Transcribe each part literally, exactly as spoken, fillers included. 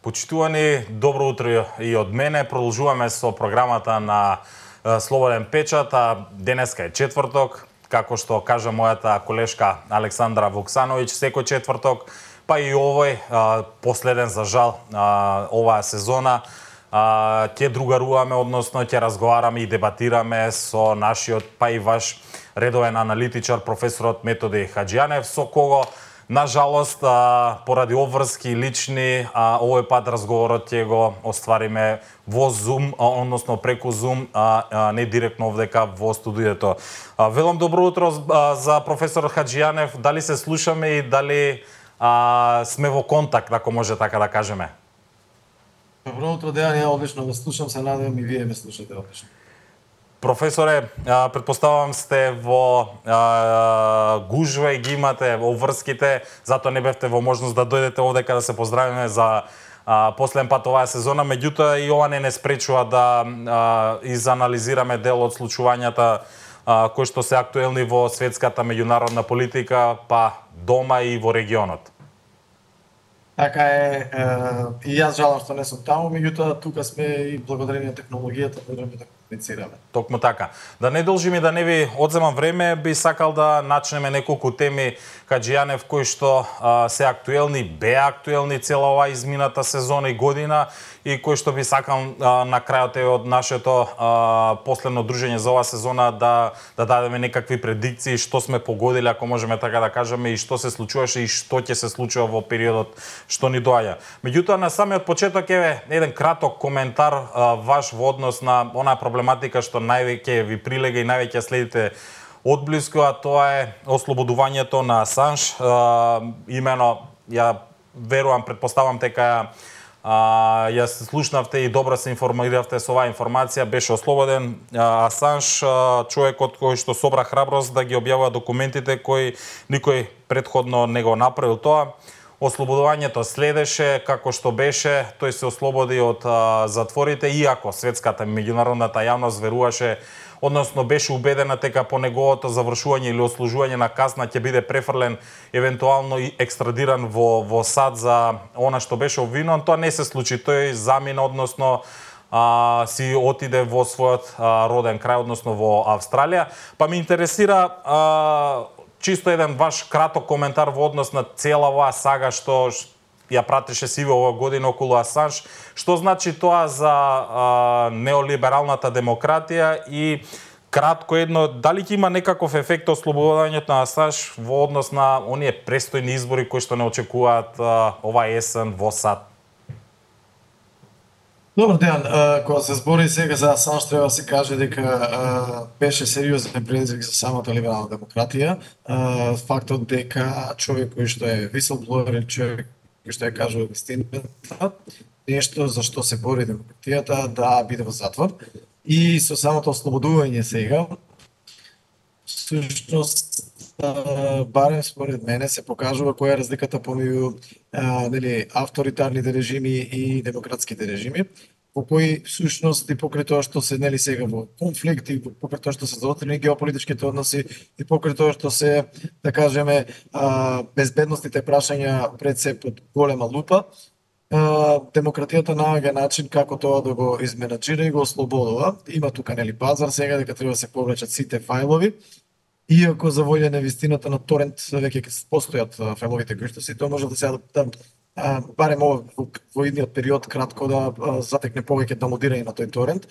Почитувани, добро утро и од мене. Продолжуваме со програмата на Слободен печат, а денеска е четврток, како што кажа мојата колешка Александра Вуксановиќ, секој четврток, па и овој, последен за жал, оваа сезона, ќе другаруваме, односно ќе разговараме и дебатираме со нашиот, па и ваш редовен аналитичар, професорот Методи Хаџијанев, со кого на жалост, поради обврски лични, овој пат разговорот ќе го оствариме во Zoom, односно преку Zoom, не директно овдека во студиото. Велам добро утро за професор Хаџијанев, дали се слушаме и дали а, сме во контакт, ако може така да кажеме? Добро утро, Дејан, ја одлично ве слушам, се надевам и вие ме слушате одлично. Професоре, предпоставам сте во а, гужва и ги имате обврските, затоа не бевте во можност да дојдете овдека да се поздравиме за а, последен пат оваа сезона, меѓутоа и ова не не спречува да а, изанализираме дел од случувањата а, кои што се актуелни во светската меѓународна политика, па дома и во регионот. Така е, е, и јас жалам што не сум таму, меѓутоа тука сме и благодарение на технологијата можеме да комуницираме. Токму така. Да не должим и да не ви одземам време, би сакал да начнеме неколку теми, Хаџијанев, кои што а, се актуелни, беа актуелни цела оваа измината сезона и година, и кои што би сакал а, на крајот од нашето а, последно дружење за оваа сезона да да дадеме некакви предикции што сме погодили, ако можеме така да кажеме, и што се случуваше и што ќе се случува во периодот што ни доаѓа. Меѓутоа на самиот почеток еве еден краток коментар а, ваш во однос на онаа проблематика што највеќе ви прилега и највеќе следите одблиску, а тоа е ослободувањето на Асанж. А, имено, ја верувам, предпоставам дека а, ја се слушнавте и добро се информиравте со оваа информација, беше ослободен а, Асанж, а, човекот кој што собра храброст да ги објавува документите кои никој предходно не го направил тоа. Ослободувањето следеше како што беше, тој се ослободи од а, затворите, иако светската меѓународната јавност веруваше, односно беше убедена дека по неговото завршување или ослужување на казна ќе биде префрлен, евентуално и екстрадиран во во САД за она што беше обвинуван. Тоа не се случи, тој замина, односно а, си отиде во својот а, роден крај, односно во Австралија. Па ме интересира а, чисто еден ваш краток коментар во однос на цела оваа сага што ја пратеше сиве оваа година околу Асанж. Што значи тоа за а, неолибералната демократија и кратко едно, дали ќе има некаков ефект ослободувањето на Асанж во однос на оние престојни избори кои што не очекуваат а, оваа есен во САД? Добар ден, кога се збори сега за Асанж, треба да се каже дека а, беше сериозен предизвик за самата либерална демократија. А, фактот дека човек кој што е whistleblower, човек кој што ја кажува вистината, нешто за што се бори демократијата, да биде во затвор. И со самото ослободување сега, всушност, барем според мене се покажува која е разликата помеѓу нели авторитарните режими и демократските режими, по кои всушност и покрај тоа што се нели сега во конфликт и покрај тоа што се заотрени геополитичките односи и покрај тоа што се, да кажеме, безбедностните прашања пред се под голема лупа, демократијата наоѓа начин како тоа да го изменаџира и го ослободува. Има тука нели пазар сега дека треба да се повлечат сите фајлови. Иако за волја на вистината на торент веќе постојат фајловите кои што си, тоа може да се да, а, барем ова во, во идниот период кратко да а, затекне повеќе домодирање на тој торент,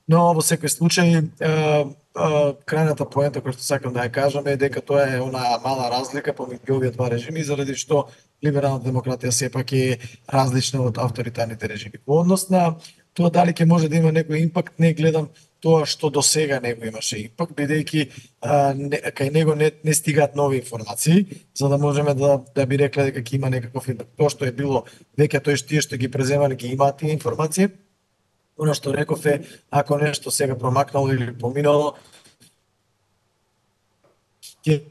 но во секој случај а, а, крајната поента која што сакам да ја кажам е дека тоа е она мала разлика помеѓу овие два режими, заради што либералната демократија сепак е различна од авторитарните режими. Во однос на тоа дали ќе може да има некој импакт, не гледам тоа што до сега него имаше импакт, бидејќи кај него не, не стигаат нови информации, за да можеме да, да би рекле дека ќе има некаков импакт. Тоа што е било веќе тој тие што ги преземале ги имаат тие информации. Оно што реков е, ако нешто сега промакнало или поминало, ќе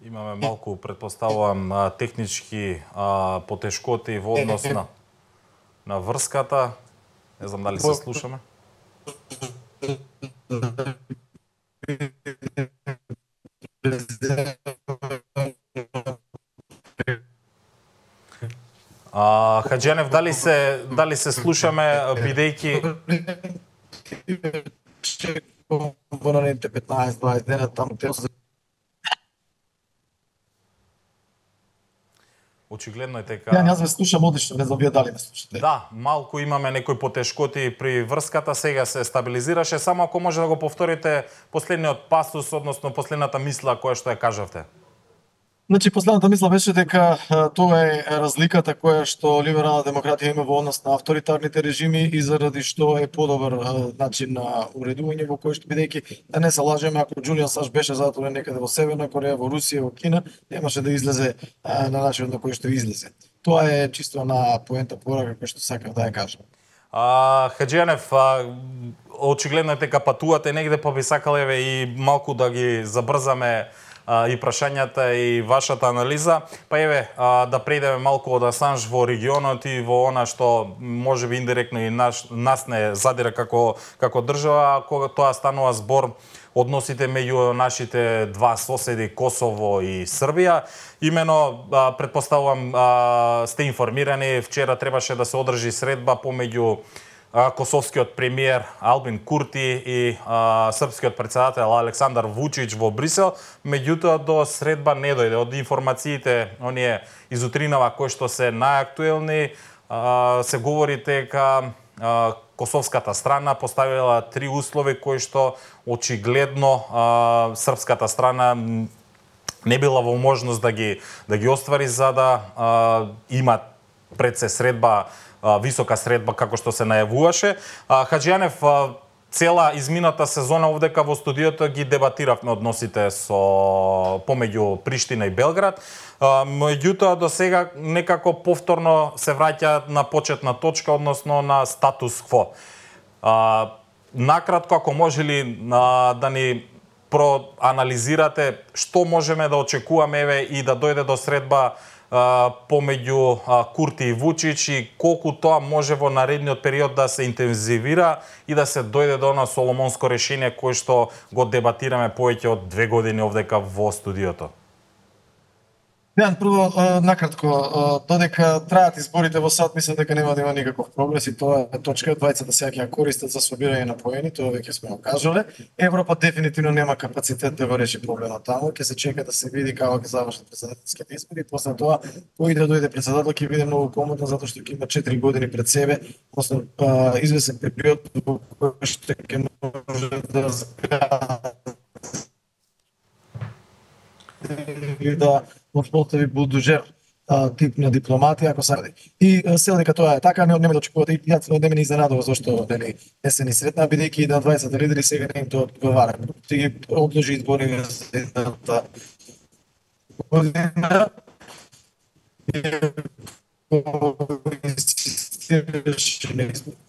имаме малку, предпоставувам, технички а, потешкоти во однос на на врската. Не знам дали се слушаме. А, Хаджијанев, дали се дали се слушаме бидејќи во наредните петнаесет дваесет дена таму те очигледно е дека... Ја јас ве слушам одлично, не знам вие дали ме слушате. Да, малку имаме некои потешкоти при врската, сега се стабилизираше, само ако може да го повторите последниот пасус, односно последната мисла која што ја кажавте. Значи, последната мисла беше дека тоа е разликата која што либерална демократија има во однос на авторитарните режими и заради што е подобар начин на уредување во кој што бидејќи да не се лажеме, ако Џулијан Саш беше затворен некаде во Северна Кореја, во Русија, во Кина, немаше да излезе а, на начинот на кој што излезе. Тоа е чисто на поента порака кој што сакав да ја кажам. А, Хаджијанев, а, очигледно е дека патувате негде, па би сакал еве и малку да ги забрзаме и прашањата и вашата анализа. Па еве, да прејдеме малку од Асанж во регионот и во она што можеби индиректно и наш, нас не задира како, како држава, кога тоа станува збор односите меѓу нашите два соседи Косово и Србија. Имено, предпоставувам, сте информирани, вчера требаше да се одржи средба помеѓу косовскиот премиер Албин Курти и а, српскиот председател Александар Вучич во Брисел, меѓутоа до средба не дојде. Од информациите, оние из утринава кои што се најактуелни, а, се говори дека а, косовската страна поставила три услови кои што очигледно а, српската страна не била во можност да ги да ги оствари за да а, има пред се средба, висока средба како што се најавуваше. Хаджијанев, цела измината сезона овдека во студиото ги дебатиравме односите со помеѓу Приштина и Белград. Меѓутоа до сега некако повторно се враќа на почетна точка, односно на статус кво. Накратко, ако може ли да ни проанализирате што можеме да очекуваме еве и да дојде до средба помеѓу Курти и Вучич и колку тоа може во наредниот период да се интензивира и да се дојде до она соломонско решение кое што го дебатираме повеќе од две години овдека во студиото? Јан, прво, накратко, додека траат изборите во САД, мислам дека нема да има никаков прогрес и тоа е точка. Двајцата сега ќе ја користат за собирање на поени, тоа веќе сме го кажале. Европа дефинитивно нема капацитет да го реши проблемот таму, ќе се чека да се види како ќе завршат претседателските избори, после тоа кој да дојде председател ќе биде многу комодно затоа што ќе има четири години пред себе, односно извесен период во кој што ќе може да да постави булдожер тип на дипломатија ако се ради. И се дека тоа е така, не нема да очекувате и јас не ме изненадува зашто нели не се ни сретна, бидејќи и на двајцет лидери сега не им тоа одговара. Ти ги одложи избори за едната година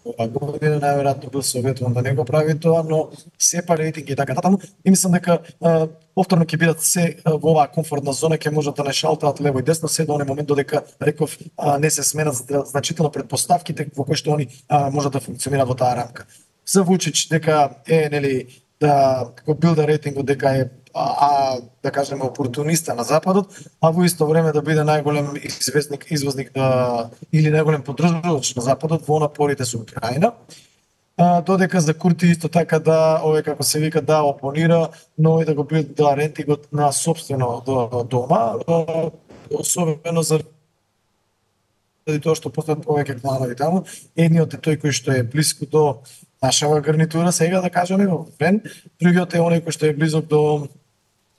ова година најверојатно бил советуван да не го прави тоа, но сепа рейтинг и така натаму. И мислам дека а, повторно ќе бидат се а, во оваа комфортна зона, ќе можат да не шалтаат лево и десно се до оној момент додека реков а, не се сменат значително предпоставките во кои што они а, можат да функционираат во таа рамка. За Вучич дека е нели да го билда рейтингот дека е а, а да кажеме опортуниста на западот, а во исто време да биде најголем известник, извозник да или најголем поддржувач на западот во напорите со Украина. А, додека за Курти исто така да, овој како се вика, да опонира, но и да го билда рейтингот на собствено до, дома, а, особено за тоа што постојат повеќе кланови таму. Едниот е тој кој што е блиску до нашава гарнитура сега, да кажеме, во Френ. Другиот е оној кој што е близок до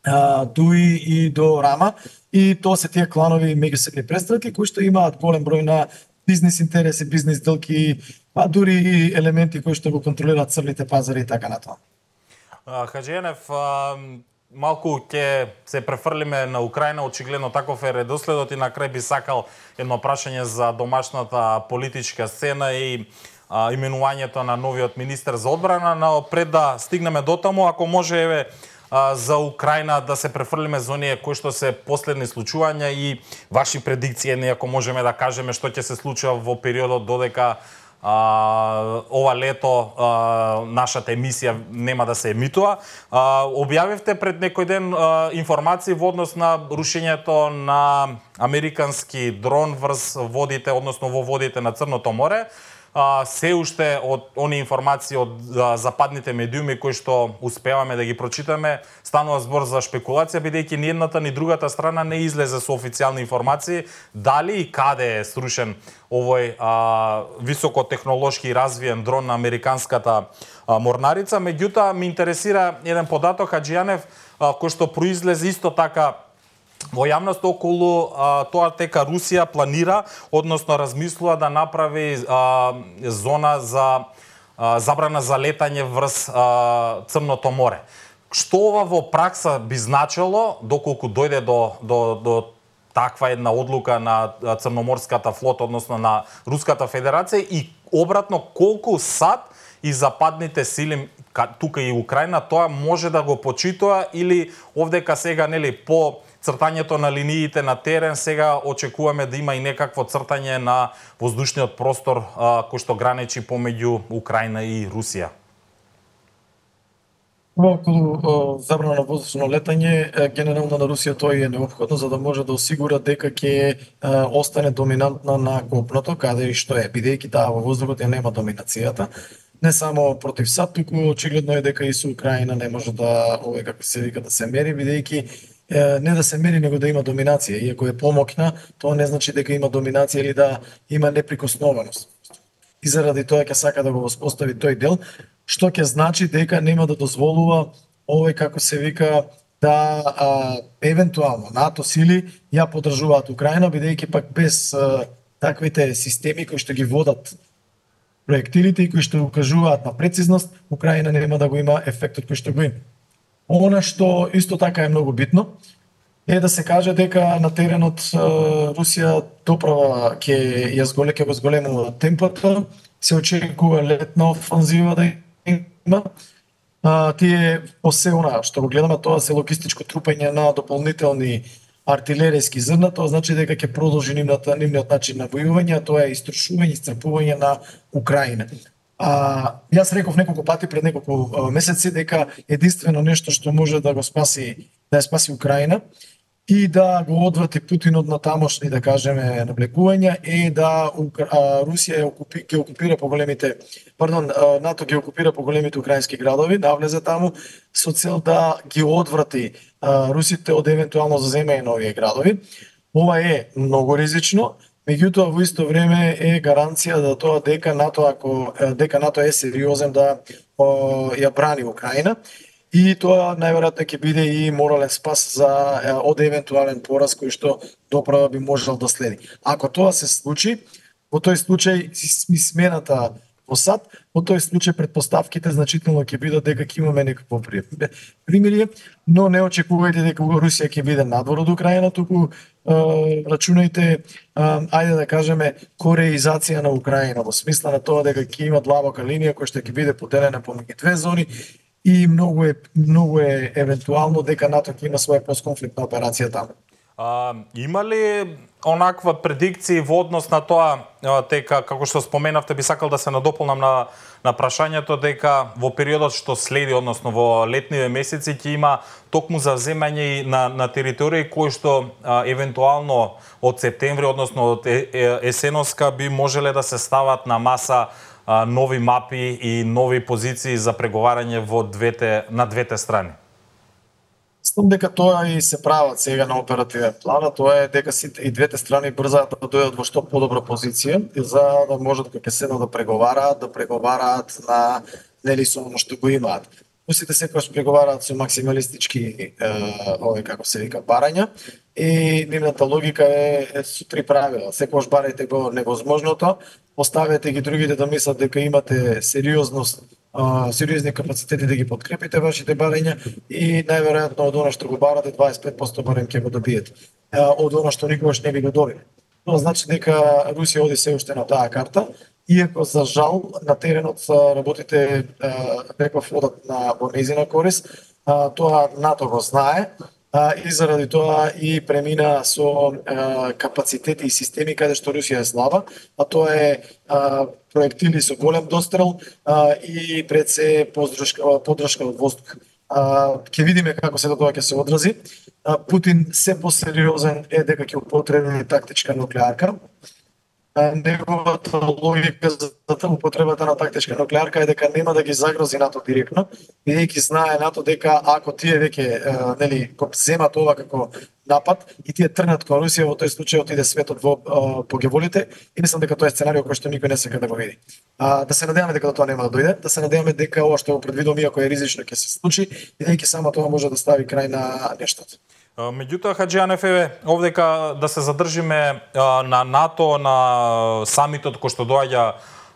а, Дуи и до Рама. И тоа се тие кланови меѓусебни престрелки кои што имаат голем број на бизнис интереси, бизнис делки, па дури и елементи кои што го контролираат црните пазари и така натаму. Хаджијанев, малку ќе се префрлиме на Украина, очигледно таков е редоследот и на крај би сакал едно прашање за домашната политичка сцена и а, именувањето на новиот министер за одбрана, но пред да стигнеме до таму, ако може еве а, за Украина да се префрлиме за оние кои што се последни случувања и ваши предикции, ако можеме да кажеме што ќе се случува во периодот додека А, ова лето а, нашата емисија нема да се емитува. А, објавивте пред некој ден а, информации во однос на рушењето на американски дрон врз водите, односно во водите на Црното море. А, се уште од они информации од а, западните медиуми кои што успеваме да ги прочитаме, станува збор за шпекулација, бидејќи ни едната ни другата страна не излезе со официјални информации дали и каде е срушен овој а, високотехнолошки развиен дрон на американската а, морнарица. Меѓутоа, ме интересира еден податок, Хаџијанев, а, кој што произлезе исто така во јавност околу а, тоа дека Русија планира, односно размислува да направи а, зона за а, забрана за летање врз а, Црното море. Што ова во пракса би значило доколку дојде до, до, до таква една одлука на Црноморската флота, односно на Руската Федерација, и обратно колку САД и западните сили тука и Украина тоа може да го почитува, или овдека сега нели по цртањето на линиите на терен сега очекуваме да има и некакво цртање на воздушниот простор а, кој што граничи помеѓу Украина и Русија? Околу забрана на воздушно летање, генерално на Русија тоа е неопходно за да може да осигура дека ќе остане доминантна на копното, каде и што е, бидејќи таа во воздухот ја нема доминацијата. Не само против САД, туку очигледно е дека и со Украина не може да, овој како се вика, да се мери, бидејќи не да се мери, него да има доминација. Иако е помокна, тоа не значи дека има доминација или да има неприкосновеност. И заради тоа ќе сака да го воспостави тој дел, што ќе значи дека нема да дозволува овој како се вика да а, евентуално НАТО сили ја поддржуваат Украина, бидејќи пак без а, таквите системи кои што ги водат проектилите и кои што укажуваат на прецизност, Украина нема да го има ефектот кој што го има. Она што исто така е многу битно е да се каже дека на теренот Русија доправа ќе ја зголе ќе го зголемува темпото, се очекува летна офанзива да има. А, тие осе она што го гледаме, тоа се логистичко трупање на дополнителни артилеријски зрна, тоа значи дека ќе продолжи нивната нивниот начин на војување, а тоа е истрошување, исцрпување на Украина. А, јас реков неколку пати пред неколку а, месеци дека единствено нешто што може да го спаси, да ја спаси Украина и да го одврати Путин од натамошни, да кажеме, навлекувања, е да а, Русија окупи, ќе окупира поголемите, пардон, а, НАТО ќе окупира поголемите украински градови, да влезе таму со цел да ги одврати а, русите од евентуално заземање на овие градови. Ова е многу ризично. Меѓутоа, во исто време е гаранција да тоа дека НАТО, ако дека НАТО е сериозен да о, ја брани Украина, и тоа најверојатно ќе биде и морален спас за од евентуален пораз кој што доправа би можел да следи. Ако тоа се случи, во тој случај смената во САД, во тој случај претпоставките значително ќе бидат дека ќе имаме некакво примирие, но не очекувајте дека Русија ќе биде надвор од Украина, туку рачунајте, ајде да кажеме, кореизација на Украина, во смисла на тоа дека ќе има длабока линија која што ќе биде поделена помеѓу две зони, и многу е многу е евентуално дека НАТО ќе има своја постконфликтна операција таму. А, има ли онаква предикција во однос на тоа дека, како што споменавте, би сакал да се надополнам на на прашањето дека во периодот што следи, односно во летниве месеци, ќе има токму завземање на на територии кои што а, евентуално од септември, односно од е, е, есеноска би можеле да се стават на маса а, нови мапи и нови позиции за преговарање во двете на двете страни. Мислам дека тоа и се прават сега на оперативен план, а тоа е дека си и двете страни брзаат да дојдат во што подобра позиција, за да можат кога ќе седнат да преговараат, да преговараат на нели со оно што го имаат. Русите секогаш преговараат со максималистички овој како се вика барања, и нивната логика е, е со три правила. Секогаш барајте го невозможното, поставете ги другите да мислат дека имате сериозност, Uh, сериозни капацитети да ги подкрепите вашите барања, и најверојатно од она што го барате дваесет и пет посто барем ќе го добиете. Uh, од она што никогаш не би го добиле. Тоа значи дека Русија оди се уште на таа карта, иако за жал на теренот работите uh, реков одат на во нејзина корист. Uh, тоа НАТО го знае. а, и заради тоа и премина со а, капацитети и системи каде што Русија е слаба, а тоа е а, проектили со голем дострел а, и пред се поддршка, поддршка од воздух. А, ќе видиме како се тоа ќе се одрази. А, Путин се посериозен е дека ќе употреби тактичка нуклеарка. Неговата логика за употребата на тактичка нуклеарка е дека нема да ги загрози НАТО директно, бидејќи знае НАТО дека ако тие веќе нели го земат ова како напад и тие тргнат кон Русија, во тој случај отиде светот во погеволите и мислам дека тоа е сценарио кој што никој не сака да го види. А, да се надеваме дека тоа нема да дојде, да се надеваме дека ова што го предвидувам иако е ризично ќе се случи, бидејќи само тоа може да стави крај на нештото. Меѓутоа, Хаџијанев, еве, овдека да се задржиме а, на НАТО, на самитот кој што доаѓа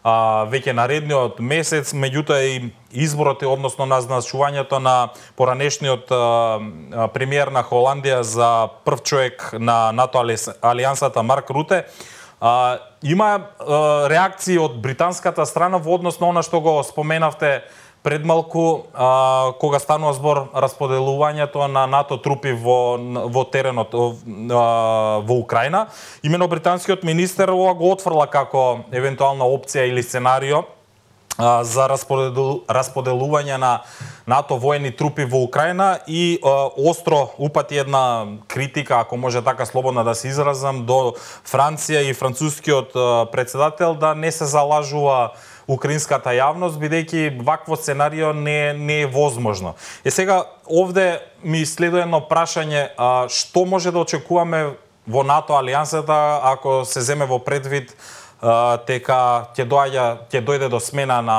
а, веќе наредниот месец, меѓутоа и изборот, односно назначувањето на поранешниот а, премиер на Холандија за прв човек на НАТО алијансата Марк Руте. А, има а, реакции од британската страна во однос на она што го споменавте пред малку, а, кога станува збор расподелувањето на НАТО трупи во, во теренот а, во Украина. Имено британскиот министер ова го отфрла како евентуална опција или сценарио а, за расподелу, расподелување на НАТО воени трупи во Украина и а, остро упати една критика, ако може така слободно да се изразам, до Франција и францускиот а, председател да не се залажува украинската јавност, бидејќи вакво сценарио не, не е возможно. Е сега, овде ми следува едно прашање, а, што може да очекуваме во НАТО алијансата ако се земе во предвид а, дека ќе доаѓа ќе дојде до смена на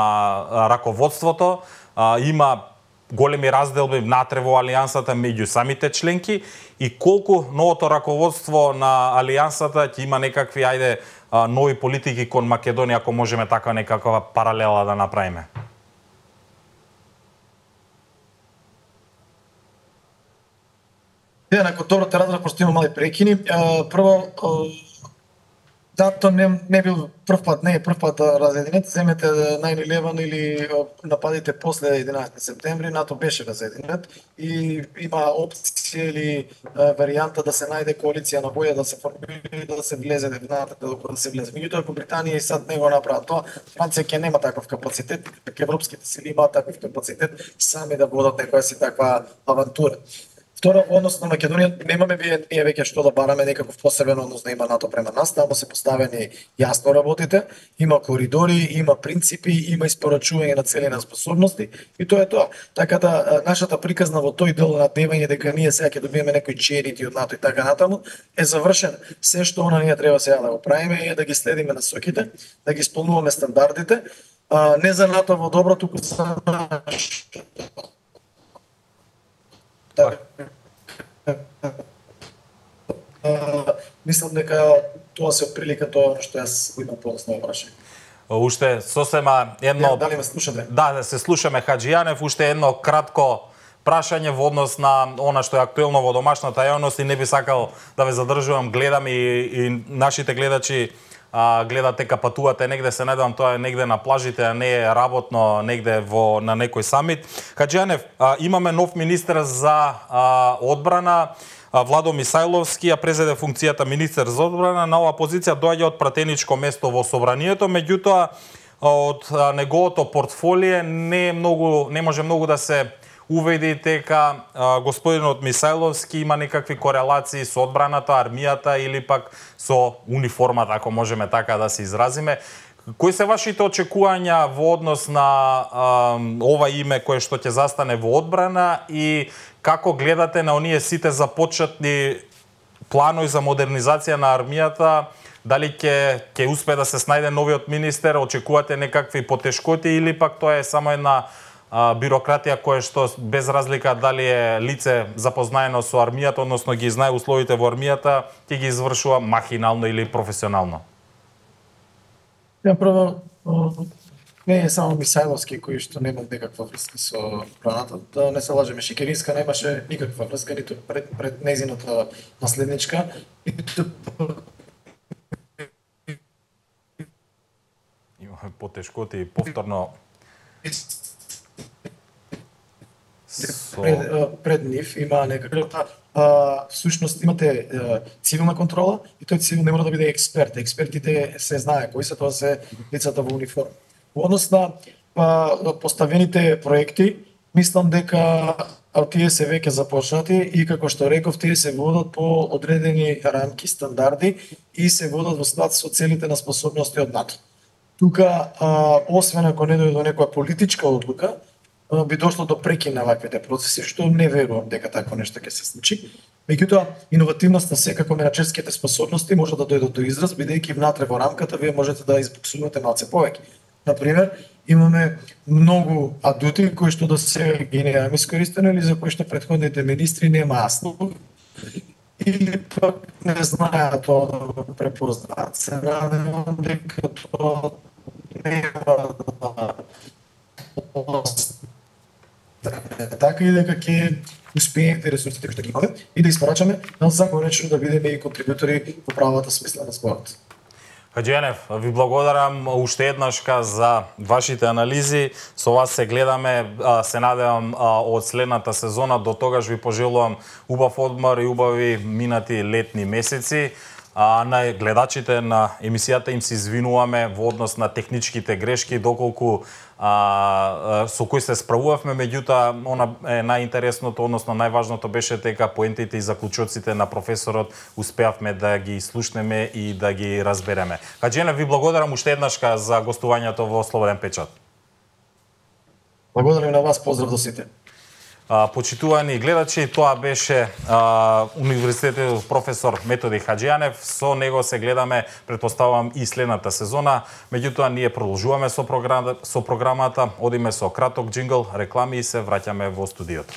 раководството, а, има големи разделби внатре во алијансата меѓу самите членки и колку новото раководство на алијансата ќе има некакви, ајде, нови политики кон Македонија, ако можеме така некаква паралела да направиме? Ја, након тоа те разрав, пошто има мали прекини. Прво, НАТО не, не бил прв пат, не е прв пат да разединет. Земете најн илевен или нападите после единаесети септември, НАТО беше разединет и има опција или варијанта да се најде коалиција на боја, да се формира, да се влезе внатре, да се влезе. Меѓутоа, ако Британија и САД не го направат тоа, Франција ќе нема таков капацитет, дека европските сили имаат таков капацитет сами да водат некоја си таква авантура. Второ, во однос на Македонија, немаме ние веќе што да бараме некаков посебен однос да има НАТО према нас, таму се поставени јасно работите, има коридори, има принципи, има испорачување на цели на способности и тоа е тоа. Така да нашата приказна во тој дел на дневање дека ние сега ќе добиеме некои черити од НАТО и така натаму е завршен. Се што она ние треба сега да го правиме е да ги следиме насоките, да ги исполнуваме стандардите, а, не за НАТО во добро, туку за нашето. Мислам дека тоа се отприлика тоа што јас го имам подоцна прашање. Уште сосема едно... Дали ме слушате? Да, се слушаме, Хаџијанев. Уште едно кратко прашање во однос на она што е актуелно во домашната јавност и не би сакал да ве задржувам, гледам и, и нашите гледачи а, гледат дека патувате негде, се надевам тоа е негде на плажите, а не е работно негде во на некој самит. Хаџијанев, а, имаме нов министер за а, одбрана, Владо Мисајловски, ја презеде функцијата министер за одбрана. На оваа позиција доаѓа од пратеничко место во собранието, меѓутоа од неговото портфолио не е многу, не може многу да се уведи дека а, господинот Мисајловски има некакви корелации со одбраната, армијата или пак со униформата, ако можеме така да се изразиме. Кои се вашите очекувања во однос на а, ова име кое што ќе застане во одбрана и како гледате на оние сите започетни планови за модернизација на армијата? Дали ќе ќе успее да се снајде новиот министер? Очекувате некакви потешкоти или пак тоа е само една а, бирократија која што без разлика дали е лице запознаено со армијата, односно ги знае условите во армијата, ќе ги извршува махинално или професионално? Ја прво, не е само Мисајловски кој што нема некаква врска со одбраната. Да не се лажеме, Шекеринска немаше никаква врска ниту пред, пред нејзината наследничка, ниту имаме потешкоти повторно со... пред, пред нив има некаква а, всушност имате а, цивилна контрола и тој цивил не мора да биде експерт. Експертите се знае кои се, тоа се лицата во униформа. Во однос на па, поставените проекти, мислам дека тие се веќе започнати и како што реков, тие се водат по одредени рамки, стандарди и се водат во склад со целите на способности од НАТО. Тука, а, освен ако не дојде до некоја политичка одлука, а, би дошло до прекин на ваквите процеси, што не верувам дека такво нешто ќе се случи. Меѓутоа, иновативноста секако менаџерските способности може да дојдат до израз, бидејќи внатре во рамката вие можете да избуксувате малце повеќе. Например, имаме многу адути кои што до сега ги немаме искористено или за кои што претходните министри нема слух или пак не знаат тоа да го препознаат. Се надевам дека тоа нема да така и дека ќе успеете ресурсите кои што ги имаме и да испорачаме законечно да бидеме и контрибутори во правата смисла на зборот. Хаџијанев, ви благодарам уште еднашка за вашите анализи. Со вас се гледаме, се надевам од следната сезона. До тогаш ви пожелувам убав одмор и убави минати летни месеци. А на гледачите на емисијата им се извинуваме во однос на техничките грешки, доколку а, со кои се справувавме, меѓутоа она е најинтересното, односно најважното беше дека поентите и заклучоците на професорот успеавме да ги слушнеме и да ги разбереме. Хаџијанев, ви благодарам уште еднашка за гостувањето во Слободен печат. Благодарам на вас, поздрав до сите. Почитувани гледачи, тоа беше а, универзитетот професор Методи Хаџијанев. Со него се гледаме, претпоставувам, и следната сезона. Меѓутоа, ние продолжуваме со, програм, со програмата, одиме со краток џингл, реклами и се враќаме во студиото.